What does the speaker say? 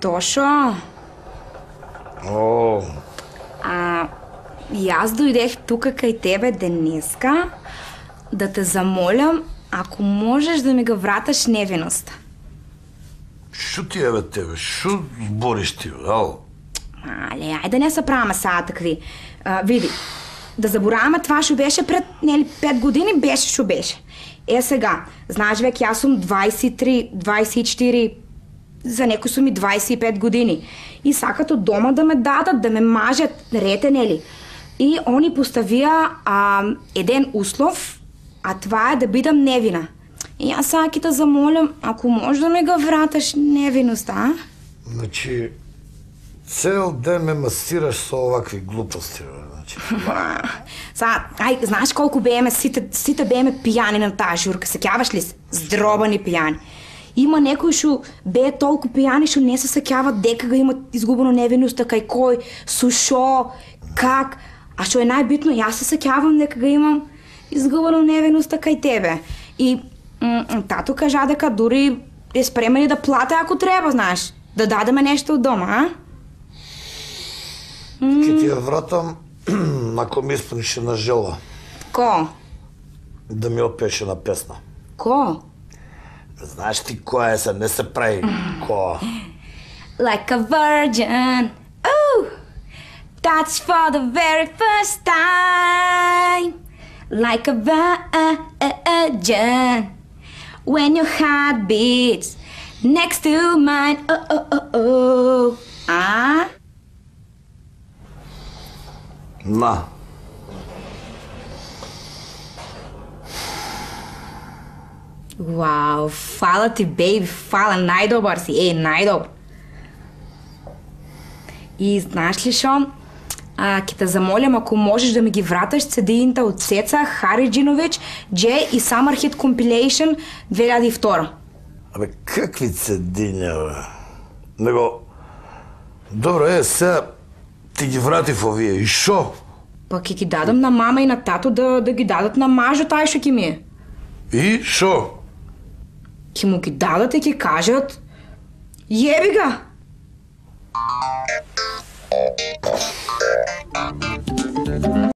Тошо. О. Јас дојдех тука кај тебе денеска да те замолам ако можеш да ми го враташ невиноста. Шо ти е тебе? Шо збориш ти, ал? Але, ајде не се правиме сега такви. Види, да забораваме това што беше пред 5 години, беше што беше. Сега, знаеш веќе јас сум 23, 24, за некои сум и 25 години. И сакат од дома да ме дадат, да ме мажат, рете, нели? И они поставија еден услов, а това е да бидам невина. И јас сега ќе те замолам, ако можеш да ми го враташ невиноста, Значи, цел ден ме масираш со овакви глупости, значи. Сега, знаеш колку бееме, сите бееме пијани на таа журка, сеќаваш ли се? Здробани пијани. Има некои што бее толку пијани што не се сеќават дека го имат изгубено невиноста кај кој, со шо, как. А што е најбитно, јас се сеќавам дека го имам изгубено невиноста кај тебе. И тато кажа дека дури е спремен и да плате ако треба, знаеш, да дадеме нешто од дома, а? Ке ти ја вратам ако ми исполниш една жела. Ко? Да ми опееш една песна. Ко? Знаеш ти која е се, не се прави ко. Like a virgin, ooh, that's for the very first time. Like a virgin, when your heart beats next to mine, oh, oh, oh, oh. На. Вау, фала ти, бейби, фала, најдобар си, најдобар. И знаеш ли шо? Ќе те замолям ако можеш да ми ги враташ CD-ите од Цеца Хариџиновиќ, J и Summer Hit Compilation 2002. Абе, какви CD-ња, бе? Него, добро сега ти ги вратив овие, и шо? Па ќе ги дадам на мама и на тато да ги дадат на мажот тај што ќе ми е. И шо? Ќе му ги дадат и ќе кажат јеби ga!